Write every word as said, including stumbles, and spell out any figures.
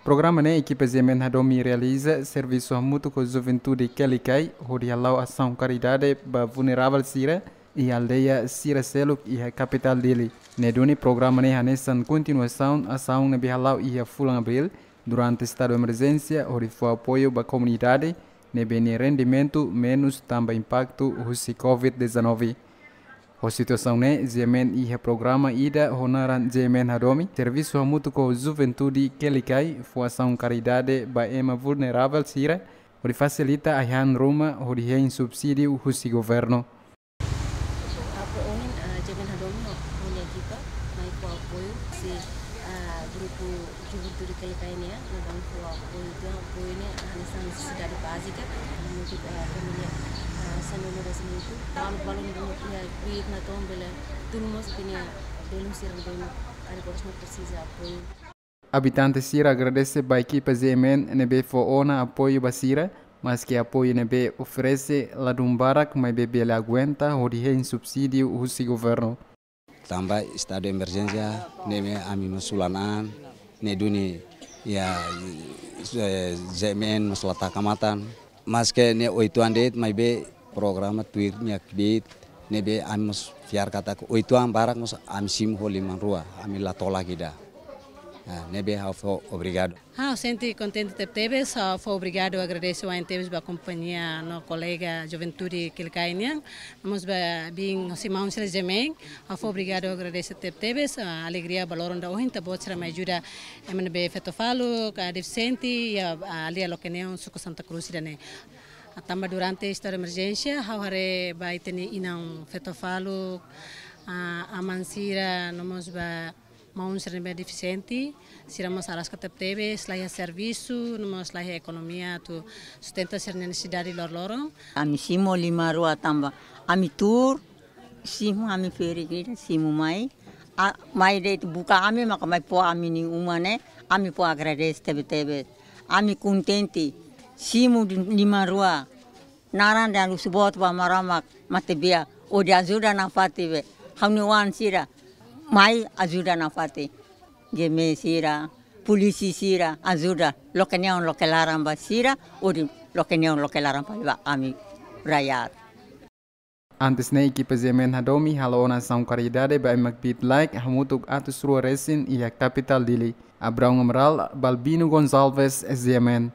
Programa ne'e ekipa G M N Hadomi realiza servisu hamutuk ho juventude Kelikai, hodi hala'o asaun karidade ba vulneravel sira iha aldeia sira seluk iha kapitál Dili. Ne'e duni programa ne'e hanesan kontinuasaun asaun ne'ebé hala'o iha fulan Abríl, durante estadu emerjénsia, hodi fó apoiu ba komunidade ne'ebé nia rendimentu menus tanba impaktu husi covid dezanove. Ho situasaun ne'e, G M N iha programa ida ho naran G M N Hadomi, servisu hamutuk ho juventude Kelikai, fó asaun karidade ba ema vulneravel sira, hodi fasilita ai-han ruma, hodi hein subsídiu husi governu. Apoiu ohin, ah, G M N Hadomi ho, ho nia ekipa, mai fó apoiu husi, ah, grupu juventude Kelikai nian, ne'ebé fó apoiu, entaun apoiu ne'e hanesan nesesidade bázika, hamutuk, ah, família, ah, San Nuno das Mutu. Balu, balu ne'ebé iha kbiit natoon bele tun mós ita-nia belun sira ne'ebé agora presiza apoiu. Abitante sira agradese ba ekipa G M N ne'ebé fó ona apoiu ba sira, maske apoiu ne'ebé oferese ladún barak maibé bele aguenta hodi hein subsídiu husi governu. Tanba estadu emerjénsia ne'e mak ami mós sulan an, ne'e duni iha, eh, G M N mós la taka matan. Maske ne'e oituan de'it maibé programa tuir nia kbiit ne'ebé ami mós fiar katak oituan barak mós ami simu ho liman rua, ami la tolak ida. Ah, ne'ebé ha'u fó obrigadu. Ha'u sente kontente tebetebes, ha'u fó obrigadu, agradese wa'in tebes ba kompañia no kolega juventude Kelikai nian, no mós ba biin husi maun sira G M N, ha'u fó obrigadu, agradese tebetebes, ah, alegria ba loron ida ohin, ita-boot sira mai ajuda ema ne'ebé feto faluk, ah, defisiente, iha, ah, aldeia Lokeneon, suku Santa Cruz ida-ne'e. Ah, tanba durante estadu emerjénsia, ha'u haree ba ita-nia inan feto faluk, ah, aman sira, no mós ba maun sira ne'ebé defisiente, sira mós araska tebetebes, la iha servisu, no mós la iha ekonomia atu sustenta sira-nia nesesidade loroloron. Ami simu liman rua tanba ami tuur, simu ami ferik ida, simu mai. Ah, mai de'it buka ami, maka mai fó ami-nia uma ne'e, ami fó agradese tebetebes. Ami kontente, simu di-, liman rua. Naran ida husu boot ba Maromak matebian, hodi ajuda nafatin be. Ha'u-nia oan sira, mai ajuda nafatin. G M N sira, polísia sira, ajuda. Lokeneon loke laran ba sira, hodi Lokeneon loke laran fali ba ami rakyat. Antes ne'e ekipa G M N Hadomi hala'o ona asaun karidade ba ema kbiit-laek hamutuk atus rua resin iha kapitál Dili. Abraão Amaral, Balbino Gonçalves, G M N.